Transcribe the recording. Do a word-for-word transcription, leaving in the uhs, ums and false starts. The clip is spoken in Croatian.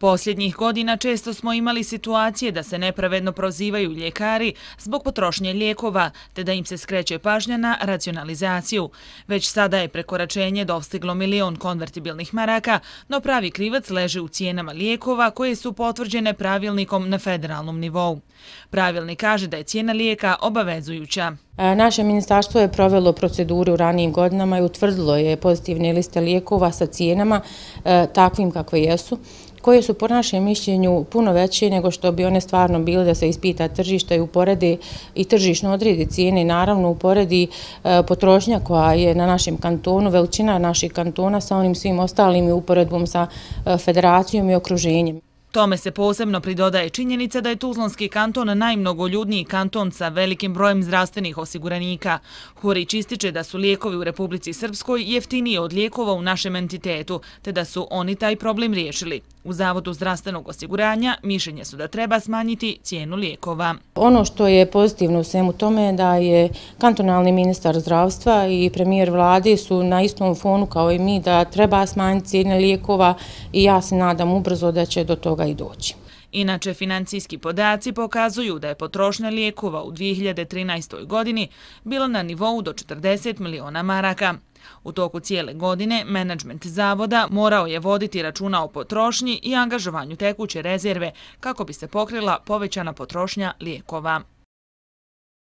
Posljednjih godina često smo imali situacije da se nepravedno prozivaju ljekari zbog potrošnje lijekova, te da im se skreće pažnja na racionalizaciju. Već sada je prekoračenje dostiglo milion konvertibilnih maraka, no pravi krivac leži u cijenama lijekova koje su potvrđene pravilnikom na federalnom nivou. Pravilnik kaže da je cijena lijeka obavezujuća. Naše ministarstvo je provelo proceduru u ranijim godinama i utvrdilo je pozitivne liste lijekova sa cijenama takvim kakve jesu, koje su po našem mišljenju puno veće nego što bi one stvarno bile da se ispita tržišta i uporedi i tržišno odredi cijene i naravno uporedi potrošnja koja je na našem kantonu, veličina naših kantona sa onim svim ostalim i uporedbom sa federacijom i okruženjem. Tome se posebno pridodaje činjenica da je Tuzlanski kanton najmnogoljudniji kanton sa velikim brojem zdravstvenih osiguranika. Hurić ističe da su lijekovi u Republici Srpskoj jeftiniji od lijekova u našem entitetu, te da su oni taj problem riješili. U Zavodu zdravstvenog osiguranja mišljenje su da treba smanjiti cijenu lijekova. Ono što je pozitivno u svemu tome je da je kantonalni ministar zdravstva i premijer vlade su na istom fonu kao i mi da treba smanjiti cijene lijekova i ja se nadam ubrzo da će do toga i doći. Inače, financijski podaci pokazuju da je potrošnja lijekova u dvije hiljade trinaestoj. godini bila na nivou do četrdeset miliona maraka. U toku cijele godine menadžment zavoda morao je voditi računa o potrošnji i angažovanju tekuće rezerve kako bi se pokrila povećana potrošnja lijekova.